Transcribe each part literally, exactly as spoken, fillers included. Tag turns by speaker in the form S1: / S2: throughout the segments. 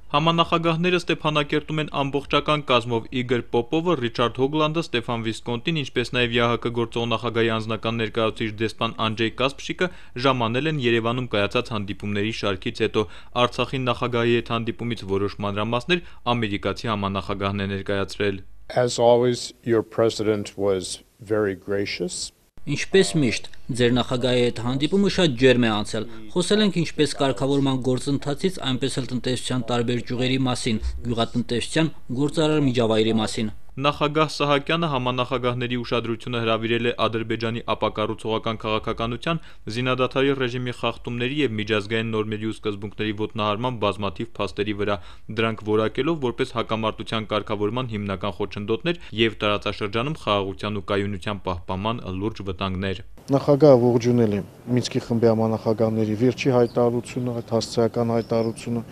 S1: Համանախագահները Ստեփանակերտում են ամբողջական կազմով Իգոր Պոպովը, Ռիչարդ Հոգլանդը, Ստեփան Վիսկոնտին, ինչպես նաև ԵԱՀԿ գործող նախագահի անձնական ներկայացուցիչ դեսպան Անջեյ Կասպշիկը ժամանել են Երևանում կայացած հանդիպումների շարքից հետո։ Արցախի նախագահի հետ հանդիպումից որոշ մանրամասներ ամերիկացի համանախագահն է ներկայացրել.
S2: As always, your president was very gracious.
S3: Ինչպես միշտ, ձեր նախագահի հետ հանդիպումը շատ ջերմ է անցել։ Խոսել ենք ինչպես կարգավորման գործընթացից, այնպես էլ տնտեսության տարբեր ճյուղերի մասին, գյուղատնտեսության գործարար միջավայրի մասին։
S1: Նախագահ Սահակյանը համանախագահների ուշադրությունը հրավիրել է Ադրբեջանի ապակառուցողական քաղաքականության, զինադադարի ռեժիմի խախտումների և միջազգային նորմերի ու սկզբունքների ոտնահարման բազմաթիվ փաստերի վրա, դրանք որակելով որպես հակամարտության կարգավորման հիմնական խոչընդոտներ և տարածաշրջանում խաղաղության ու կայունության պահպանման լուրջ վտանգներ։
S4: Նախագահը ողջունել է Մինսկի խմբի համանախագահների վերջի հայտարարությունը, այդ հասցեական հայտարարությունը,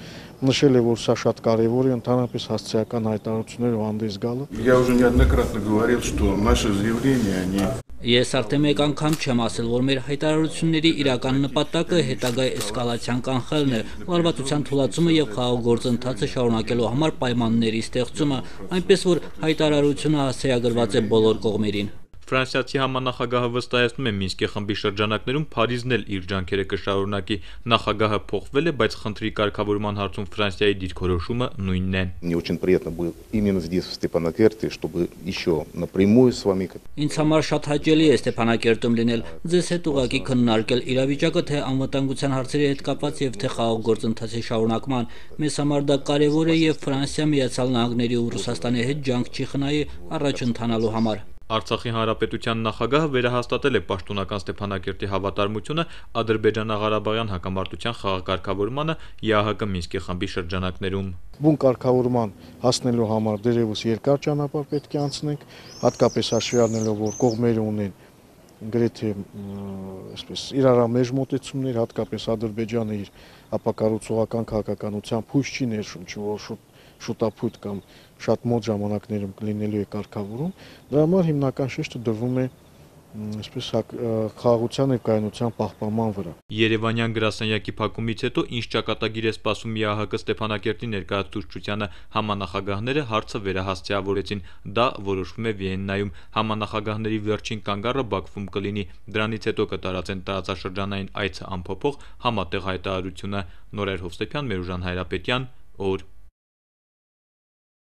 S4: նշել է, որ սա շատ կարևոր է, ընդհանրապես հասցեական հայտարարություններով հանդես գալը։
S5: Я уже неоднократно говорил, что наши заявления, они
S3: Ես արդեն մեկ անգամ չեմ ասել, որ մեր հայտարարությունների իրական նպատակը հետագա էսկալացիան կանխելն է, լարվածության թուլացումը եւ խաղաղ գործընթացը շարունակելու համար պայմանների ստեղծումը, այնպես որ հայտարարությունը հասցեագրված է բոլոր կողմերին։
S1: Ֆրանսիացի համանախագահը վստահեցնում է Մինսկի խմբի շրջանակներում Փարիզն էլ իր ջանքերը կշարունակի։ Նախագահը փոխվել է, բայց խնդրի կարգավորման հարցում Ֆրանսիայի դիրքորոշումը նույնն է։
S6: Мне очень приятно было именно здесь в Степанакерте, чтобы еще напрямую с вами.
S3: Ինձ համար շատ հաճելի է Ստեփանակերտում լինել, ձեզ հետ ուղղակի քննարկել իրավիճակը թե անվտանգության հարցերի հետ կապված եւ թե խաղաղ գործընթացի շարունակման։ Մեզ համար դա կարեւոր է եւ Ֆրանսիա, Միացյալ Նահանգների ու Ռուսաստանի հետ ջանք չի խնայի առաջ ընթանալու համար։
S1: Արցախի հանրապետության նախագահը վերահաստատել է պաշտոնական Ստեփանակերտի հավատարմությունը Ադրբեջանա-Ղարաբաղյան հակամարտության խաղակարգավորմանը ԵԱՀԿ Մինսկի խմբի շրջանակներում։
S4: Բուն կարգավորման հասնելու համար դերևս երկար ճանապարհ պետք է անցնենք, հատկապես հաշվի առնելով, որ կողմերը ունեն գրեթե այսպես իրարամեջ մոտեցումներ, հատկապես Ադրբեջանը իր ապակառուցողական քաղաքականության փույս չի ներշնչում, որ շուտ շուտապույտ կամ շատ մոտ ժամանակներում կլինելու է կարգավորում, դրա համար հիմնական շեշտը դրվում է այսպես խաղաղության եւ կայունության պահպանման վրա։
S1: Երևանյան գրասենյակի փակումից հետո ինչ ճակատագիր է սպասում ԵԱՀԿ Ստեփանակերտի ներկայացուցչությանը, համանախագահները հարցը վերահասցեավորեցին, դա որոշվում է Վիեննայում, համանախագահների վերջին կանգառը Բաքվում կլինի, դրանից հետո կտարածեն տարածաշրջանային այցը ամփոփող համատեղ հայտարարությունը։ Նորայր Հովսեփյան, Մերուժան Հայրապետյան, օր